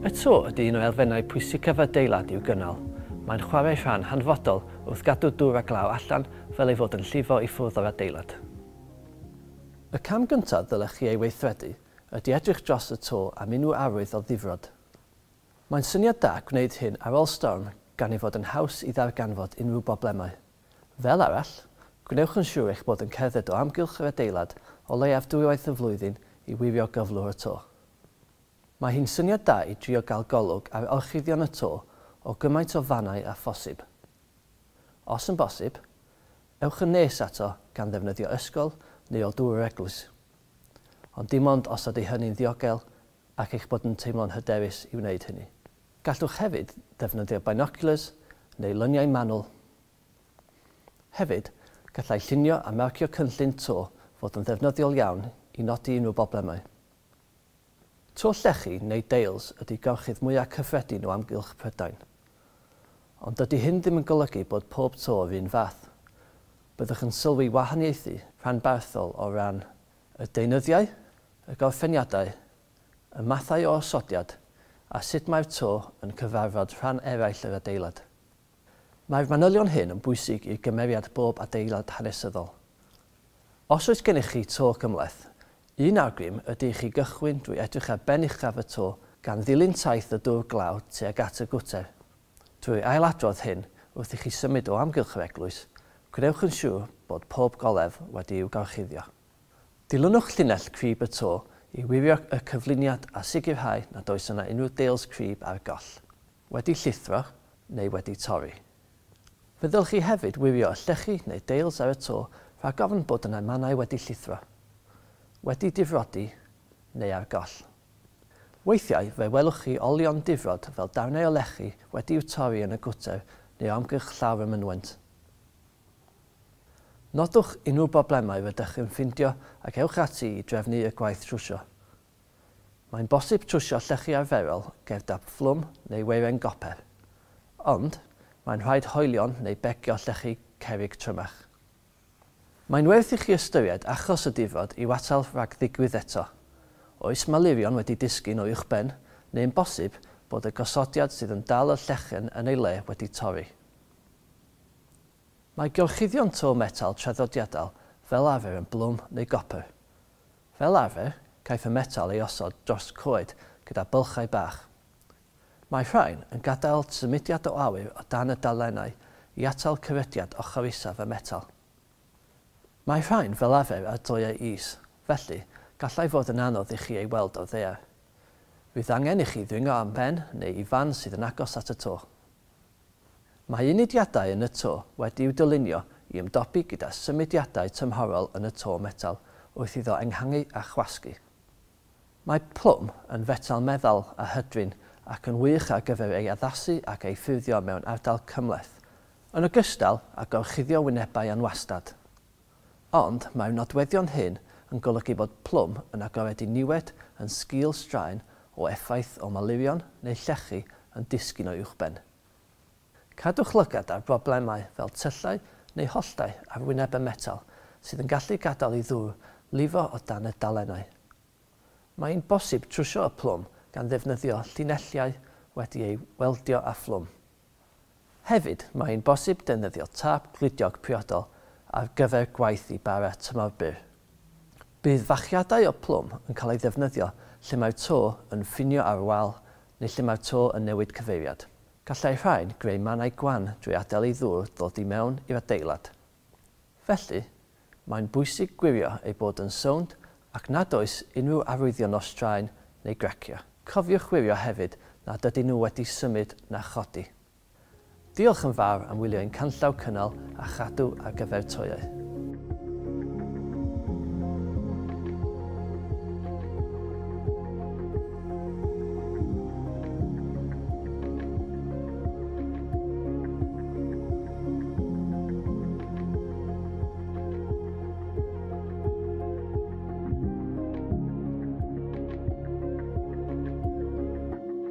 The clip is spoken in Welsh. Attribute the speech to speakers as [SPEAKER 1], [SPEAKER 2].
[SPEAKER 1] Y to ydy un o elfennau pwysicaf adeilad i'w gynnal. Mae'n chwarae rhan hanfodol wrth gadw dŵr a glaw allan fel ei fod yn llifo i ffwrdd o'r adeilad. Y cam gyntaf ddylech chi ei weithredu ydy edrych dros y to am unrhyw arwydd o ddifrod. Mae'n syniad da gwneud hyn ar ôl storm gan ei fod yn haws i ddarganfod unrhyw broblemau. Fel arall, gwnewch yn siŵr eich bod yn cerdded o amgylch yr adeilad o leiaf dwywaith y flwyddyn i wirio gyflwr y to. Mae hi'n syniad da i drio gael golwg ar orchuddion y to o gymaint o fannau â phosib. Os yn bosib, ewch yn nes ato gan ddefnyddio ysgol neu o dŵr yr eglwys. Ond dim ond os ydy hynny'n ddiogel ac eich bod yn teimlo'n hyderus i wneud hynny. Gallwch hefyd ddefnyddio binoculars neu luniau manwl. Hefyd, gallai llunio a marcio cynllun to fod yn ddefnyddiol iawn i nodi unrhyw broblemau. To llechi neu deils ydy gorchudd mwyaf cyffredin o amgylch Prydain. Ond dydy hyn ddim yn golygu bod pob to o'r un fath. Byddwch yn sylwi wahaniaethu rhanbarthol o ran y deunyddiau, y gorffeniadau, y mathau o osodiad a sut mae'r to yn cyfarfod rhan eraill yr adeilad. Mae'r manylion hyn yn bwysig i gymeriad bob adeilad hanesyddol. Os oes gennych chi to cymhleth, un awgrym ydy i chi gychwyn drwy edrych ar ben uchaf y to gan ddilyn taith y dŵr glaw tuag at y gwter. Drwy ailadrodd hyn wrth i chi symud o amgylch yr eglwys, gwnewch yn siŵr bod pob golef wedi'w gorchuddio. Dilynwch llinell crib y to i wirio y cyfluniad a sicrhau nad oes yna unrhyw deils crib ar goll, wedi llithro neu wedi torri. Fe ddylech chi hefyd wirio y llechi neu deils ar y to rhag ofn bod yna mannau wedi llithro, wedi difrodi neu ar goll. Weithiau fe welwch chi olion difrod fel darnau o lechi wedi'w torri yn y gwter neu o amgylch llawr y mynwent. Nodwch unrhyw broblemau rydych yn ffindio ac ewch ati i drefnu y gwaith trwsio. Mae'n bosib trwsio llechi arferol gyda phlwm neu weiren goper, ond mae'n rhaid hoelion neu begio llechi cerrig trymach. Mae'n werth i chi ystyried achos y difrod i'w atal rhag ddigwydd eto. Oes malurion wedi disgyn o uwchben, neu'n bosib bod y gosodiad sydd yn dal y llechen yn ei le wedi torri. Mae gorchuddion to metal traddodiadol fel arfer yn blwm neu gopr. Fel arfer, caiff y metal ei osod dros coed gyda bylchau bach. Mae rhain yn gadael symudiad o awyr o dan y dalennau i atal cyrydiad ochr isaf y metal. Mae rhain fel arfer ar doiau is, felly gallai fod yn anodd i chi ei weld o'r ddaear. Fydd angen i chi ddringo am ben neu i fan sydd yn agos at y to. Mae unidiadau yn y to wedi'w dylunio i ymdopi gyda symudiadau tymhorol yn y to metal wrth iddo enghangu a chwasgu. Mae plwm yn fetal meddal a hydrin ac yn wych ar gyfer ei addasu ac ei ffurfio mewn ardal cymhleth, yn ogystal â gorchuddio wynebau anwastad. Ond mae'r nodweddion hyn yn golygu bod plwm yn agored i niwed yn sgil straen o effaith o malurion neu llechi yn disgyn o uwchben. Cadwch lygad ar broblemau fel tyllau neu holltau ar wyneb y metal sydd yn gallu gadael i ddŵr lifo o dan y dalennau. Mae'n bosib trwsio y plwm gan ddefnyddio llinelliau wedi ei weldio â phlwm. Hefyd, mae'n bosib defnyddio tâp gludiog priodol ar gyfer gwaith i bara tymor byr. Bydd fachiadau o plwm yn cael ei ddefnyddio lle mae'r to yn ffinio ar wal neu lle mae'r to yn newid cyfeiriad. Gallai rhain greu mannau gwan drwy adael i ddŵr ddod i mewn i'r adeilad. Felly, mae'n bwysig gwirio ei bod yn sownd ac nad oes unrhyw arwyddion o straen neu grecio. Cofiwch wirio hefyd nad ydyn nhw wedi symud na chodi. Diolch yn fawr am wylio ein canllaw cynnal a chadw ar gyfer toiau.